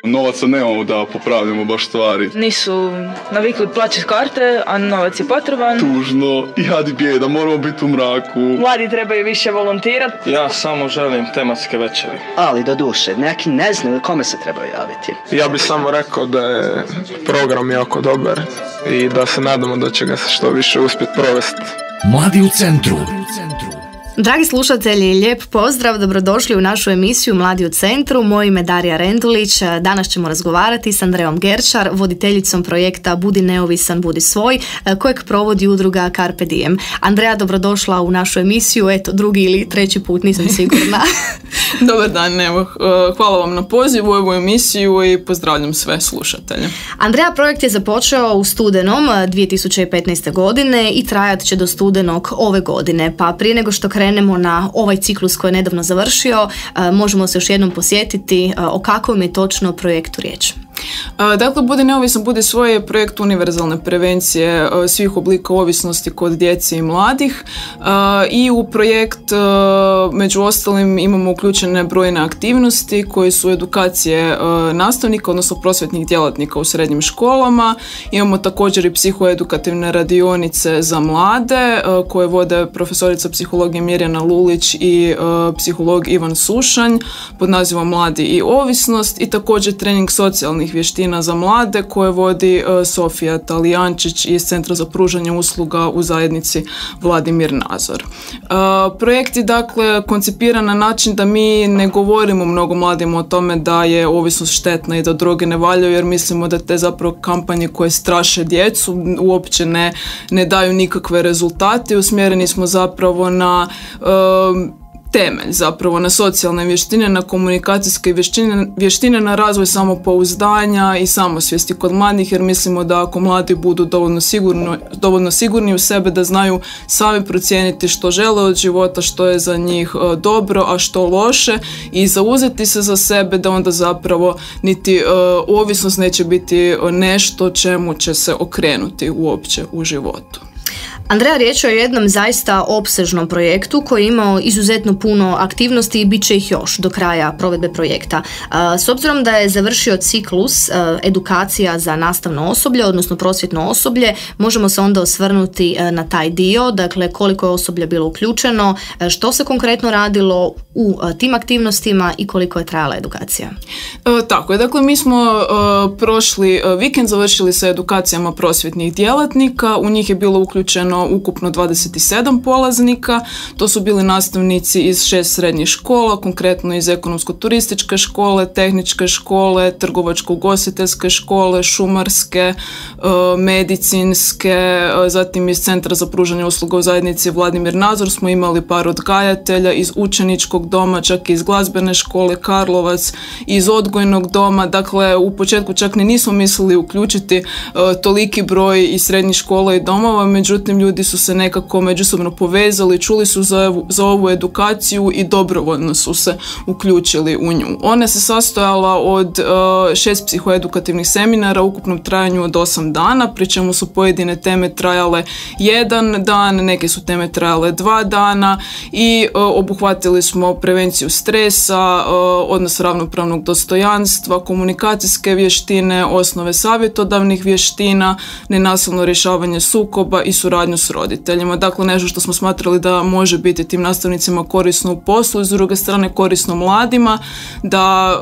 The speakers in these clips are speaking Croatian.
Novaca nemamo da popravljamo baš stvari. Nisu navikli plaćati karte, a novac je potreban. Tužno i jadi bijeda, moramo biti u mraku. Mladi trebaju više volontirati. Ja samo želim tematske večeri. Ali do duše, neki ne znaju kome se trebaju javiti. Ja bih samo rekao da je program jako dobar i da se nadamo da će ga se što više uspjeti provesti. Mladi u centru. Dragi slušatelji, lijep pozdrav, dobrodošli u našu emisiju Mladi u centru. Moje ime je Darija Rendulić. Danas ćemo razgovarati s Andrejom Gerčar, voditeljicom projekta Budi neovisan, budi svoj, kojeg provodi udruga Carpe Diem. Andreja, dobrodošla u našu emisiju, eto, drugi ili treći put, nisam sigurna. Dobar dan, evo, hvala vam na pozivu u ovu emisiju i pozdravljam sve slušatelje. Andreja, projekt je započeo u studenom 2015. godine i trajat će do studenog ove godine, pa prije nego što krenemo na ovaj ciklus koji je nedavno završio, možemo se još jednom posjetiti o kakvom je točno projektu riječ. Dakle, Budi neovisan, budi svoj je projekt univerzalne prevencije svih oblika ovisnosti kod djece i mladih i u projekt među ostalim imamo uključene brojne aktivnosti koje su edukacije nastavnika, odnosno prosvjetnih djelatnika u srednjim školama. Imamo također i psihoedukativne radionice za mlade koje vode profesorica psihologije Mirjana Lulić i psiholog Ivan Sušanj pod nazivom Mladi i ovisnost, i također trening socijalnih vještina za mlade koje vodi Sofija Talijančić iz Centra za pružanje usluga u zajednici Vladimir Nazor. Projekt je dakle koncipiran na način da mi ne govorimo mnogo mladima o tome da je ovisnost štetna i da droge ne valjaju, jer mislimo da te zapravo kampanje koje straše djecu uopće ne daju nikakve rezultate. Usmjereni smo zapravo na temelj, zapravo na socijalne vještine, na komunikacijske vještine, na razvoj samopouzdanja i samosvijesti kod mladih, jer mislimo da ako mladi budu dovoljno sigurni u sebe, da znaju sami procijeniti što žele od života, što je za njih dobro, a što loše, i zauzeti se za sebe, da onda zapravo niti ovisnost neće biti nešto čemu će se okrenuti uopće u životu. Andreja, riječ je o jednom zaista opsežnom projektu koji je imao izuzetno puno aktivnosti i bit će ih još do kraja provedbe projekta. S obzirom da je završio ciklus edukacija za nastavno osoblje, odnosno prosvjetno osoblje, možemo se onda osvrnuti na taj dio, dakle koliko je osoblja bilo uključeno, što se konkretno radilo u tim aktivnostima i koliko je trajala edukacija. Tako je, dakle mi smo prošli vikend završili sa edukacijama prosvjetnih djelatnika, u njih je bilo uključeno ukupno 27 polaznika, to su bili nastavnici iz 6 srednjih škola, konkretno iz ekonomsko-turističke škole, tehničke škole, trgovačko-ugostiteljske škole, šumarske, medicinske, zatim iz Centra za pružanje usluga u zajednici Vladimir Nazor smo imali par odgajatelja, iz učeničkog doma, čak i iz glazbene škole Karlovac, iz odgojnog doma. Dakle, u početku čak ni nismo mislili uključiti toliki broj iz srednjih škola i domova, međutim ljudi su se nekako međusobno povezali, čuli su za ovu edukaciju i dobrovoljno su se uključili u nju. Ona se sastojala od 6 psihoedukativnih seminara u ukupnom trajanju od 8 dana, pri čemu su pojedine teme trajale 1 dan, neke su teme trajale 2 dana i obuhvatili smo prevenciju stresa, odnos ravnopravnog dostojanstva, komunikacijske vještine, osnove savjetodavnih vještina, nenasilno rješavanje sukoba i suradnju s roditeljima. Dakle, nešto što smo smatrali da može biti tim nastavnicima korisno u poslu i s druge strane korisno mladima, da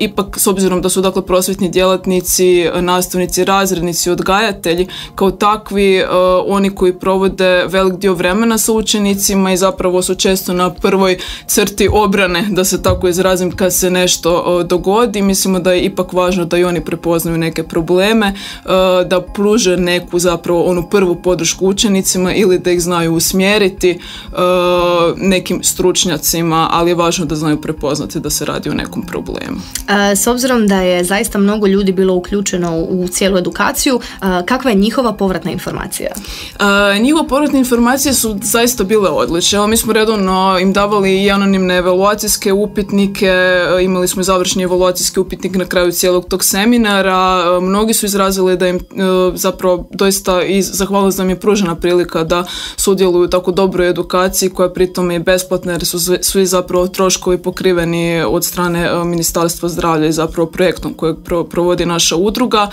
ipak s obzirom da su dakle prosvjetni djelatnici, nastavnici, razrednici, odgajatelji kao takvi oni koji provode velik dio vremena sa učenicima i zapravo su često na prvoj crti obrane, da se tako izrazim, kad se nešto dogodi. Mislimo da je ipak važno da i oni prepoznaju neke probleme, da pruže neku zapravo onu prvu podršku učenicima ili da ih znaju usmjeriti nekim stručnjacima, ali je važno da znaju prepoznati da se radi o nekom problemu. S obzirom da je zaista mnogo ljudi bilo uključeno u cijelu edukaciju, kakva je njihova povratna informacija? Njihove povratne informacije su zaista bile odlične. Mi smo redovno im davali i anonimne evaluacijske upitnike, imali smo i završni evaluacijski upitnik na kraju cijelog tog seminara. Mnogi su izrazili da im zapravo doista zahvalili da im je pružena sjajna prilika da sudjeluju u tako dobroj edukaciji koja pritom je besplatna jer su svi zapravo troškovi pokriveni od strane Ministarstva zdravlja i zapravo projektom kojeg provodi naša udruga.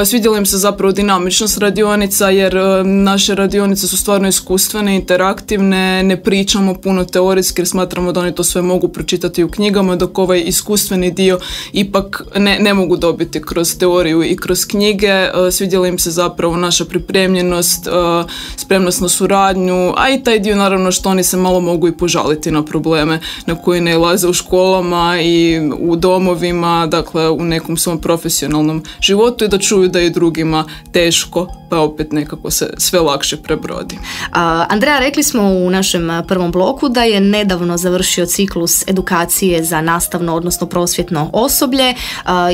Svidjela im se zapravo dinamičnost radionica jer naše radionice su stvarno iskustvene, interaktivne, ne pričamo puno teorijski jer smatramo da oni to sve mogu pročitati u knjigama, dok ovaj iskustveni dio ipak ne mogu dobiti kroz teoriju i kroz knjige. Svidjela im se zapravo naša pripremljenost, spremnost na suradnju, a i taj dio naravno što oni se malo mogu i požaliti na probleme na koje nailaze u školama i u domovima, dakle u nekom svom profesionalnom životu i da čuju da je drugima teško, pa opet nekako se sve lakše prebrodi. Andreja, rekli smo u našem prvom bloku da je nedavno završio ciklus edukacije za nastavno, odnosno prosvjetno osoblje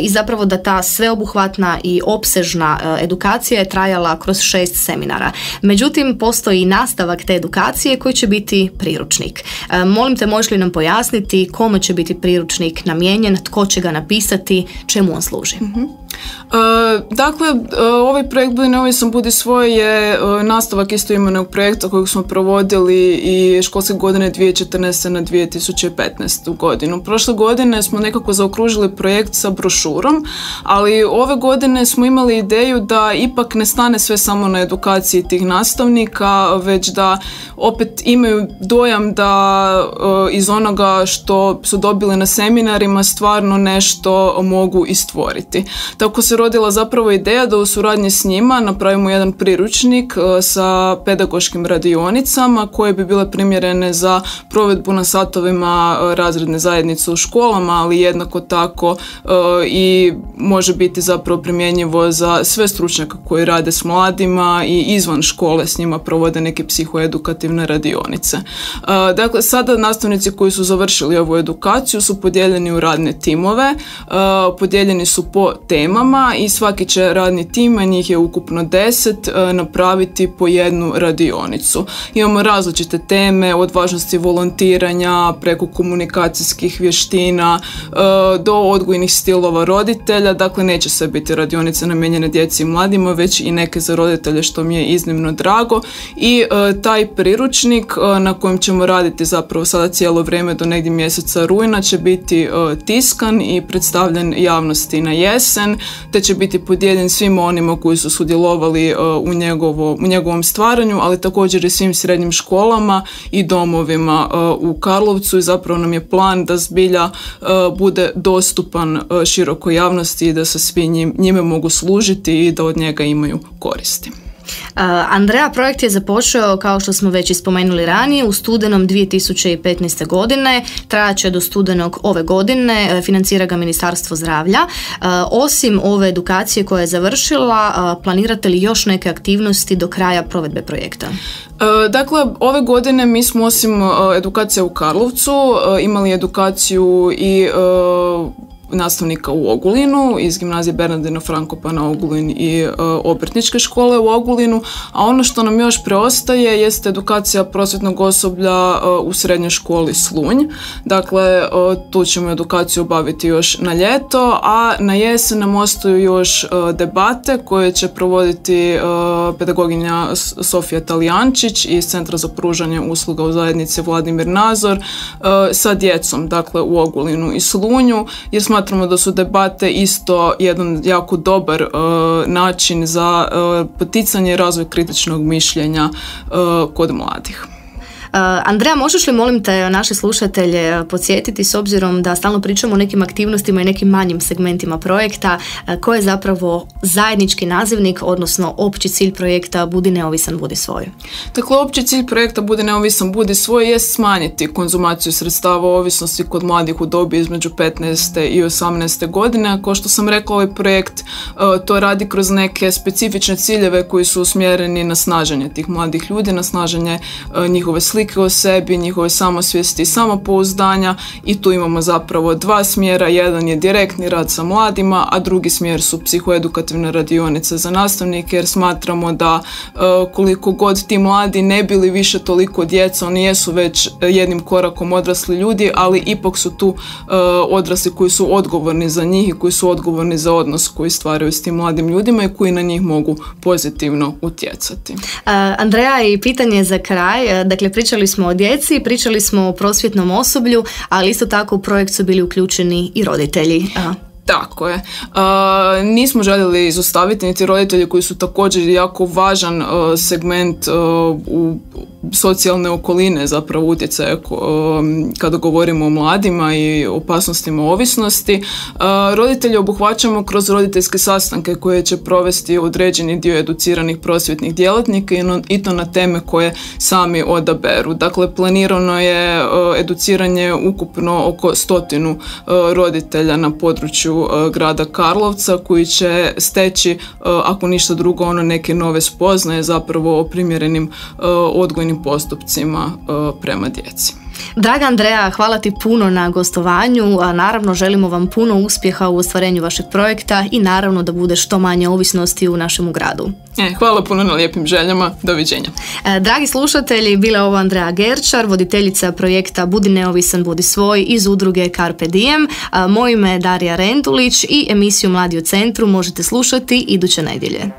i zapravo da ta sveobuhvatna i opsežna edukacija je trajala kroz 6 seminara. Međutim, postoji i nastavak te edukacije koji će biti priručnik. Molim te, možeš li nam pojasniti kome će biti priručnik namijenjen, tko će ga napisati, čemu on služi? Dakle, ovaj projekt Budi neovisan, budi svoj je nastavak istoimenog projekta kojeg smo provodili i školske godine 2014. na 2015. godinu. Prošle godine smo nekako zaokružili projekt sa brošurom, ali ove godine smo imali ideju da ipak ne stane sve samo na edukaciji tih nastavnika, već da opet imaju dojam da iz onoga što su dobili na seminarima stvarno nešto mogu i stvoriti. Tako se rodila zapravo ideja da u suradnji s njima napravimo jedan priručnik sa pedagoškim radionicama koje bi bile primjerene za provedbu na satovima razredne zajednice u školama, ali jednako tako i može biti zapravo primjenjivo za sve stručnjaka koji rade s mladima i izvan škole s njima provode neke psihoedukativne radionice. Dakle, sada nastavnici koji su završili ovu edukaciju su podijeljeni u radne timove, podijeljeni su po temama i svaki će radni tim, a njih je ukupno 10, napraviti po jednu radionicu. Imamo različite teme, od važnosti volontiranja, preko komunikacijskih vještina, do odgojnih stilova roditelja. Dakle, neće sve biti radionice namijenjene djeci i mladima, već i neke za roditelje, što mi je iznimno drago. I taj priručnik na kojem ćemo raditi zapravo sada cijelo vrijeme do negdje mjeseca rujna će biti tiskan i predstavljen javnosti na jesen, te će biti podijeljen svima onima koji su sudjelovali u njegovom stvaranju, ali također i svim srednjim školama i domovima u Karlovcu i zapravo nam je plan da zbilja bude dostupan širokoj javnosti i da se svi njime mogu služiti i da od njega imaju koristi. Andreja, projekt je započeo, kao što smo već spomenuli ranije, u studenom 2015. godine, trajaće do studenog ove godine, financira ga Ministarstvo zdravlja. Osim ove edukacije koja je završila, planirate li još neke aktivnosti do kraja provedbe projekta? Dakle, ove godine mi smo osim edukacija u Karlovcu imali edukaciju i nastavnika u Ogulinu iz gimnazije Bernardina Frankopana Ogulin i obrtničke škole u Ogulinu, a ono što nam još preostaje jeste edukacija prosvjetnog osoblja u srednjoj školi Slunj. Dakle, tu ćemo edukaciju obaviti još na ljeto, a na jesen nam ostaju još debate koje će provoditi pedagoginja Sofija Talijančić iz Centra za pružanje usluga u zajednici Vladimir Nazor sa djecom, dakle u Ogulinu i Slunju, jer smatramo da su debate isto jedan jako dobar način za poticanje i razvoj kritičnog mišljenja kod mladih. Andreja, možeš li, molim te, naše slušatelje podsjetiti, s obzirom da stalno pričamo o nekim aktivnostima i nekim manjim segmentima projekta, koji je zapravo zajednički nazivnik, odnosno opći cilj projekta Budi neovisan, budi svoj? Dakle, opći cilj projekta Budi neovisan, budi svoj je smanjiti konzumaciju sredstava ovisnosti kod mladih u dobi između 15. i 18. godine. Kao što sam rekla, ovaj projekt to radi kroz neke specifične ciljeve koji su usmjereni na snaženje tih mladih ljudi, na snaženje njihove slike, slike o sebi, njihove samosvijesti i samopouzdanja, i tu imamo zapravo dva smjera. Jedan je direktni rad sa mladima, a drugi smjer su psihoedukativne radionice za nastavnike, jer smatramo da koliko god ti mladi ne bili više toliko djeca, oni jesu već jednim korakom odrasli ljudi, ali ipak su tu odrasli koji su odgovorni za njih i koji su odgovorni za odnos koji stvaraju s tim mladim ljudima i koji na njih mogu pozitivno utjecati. Andreja, i pitanje za kraj. Dakle, pričali smo o djeci, pričali smo o prosvjetnom osoblju, ali isto tako u projekt su bili uključeni i roditelji. Tako je. Nismo željeli izostaviti niti roditelji koji su također jako važan segment u socijalne okoline, zapravo utjecaja kada govorimo o mladima i opasnostima ovisnosti. Roditelji obuhvaćamo kroz roditeljske sastanke koje će provesti određeni dio educiranih prosvjetnih djelatnika i to na teme koje sami odaberu. Dakle, planirano je educiranje ukupno oko 100 roditelja na području grada Karlovca koji će steći, ako ništa drugo, neke nove spoznaje zapravo o primjerenim odgojnim postupcima prema djeci. Draga Andreja, hvala ti puno na gostovanju, a naravno želimo vam puno uspjeha u ostvarenju vašeg projekta i naravno da bude što manje ovisnosti u našem gradu. Hvala puno na lijepim željama, doviđenja. Dragi slušatelji, bila je ovo Andreja Gerčar, voditeljica projekta Budi neovisan, budi svoj iz udruge Carpe Diem. Moje ime je Darija Rendulić i emisiju Mladi u centru možete slušati iduće nedjelje.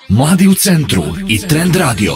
Mladi u centru i Trend Radio.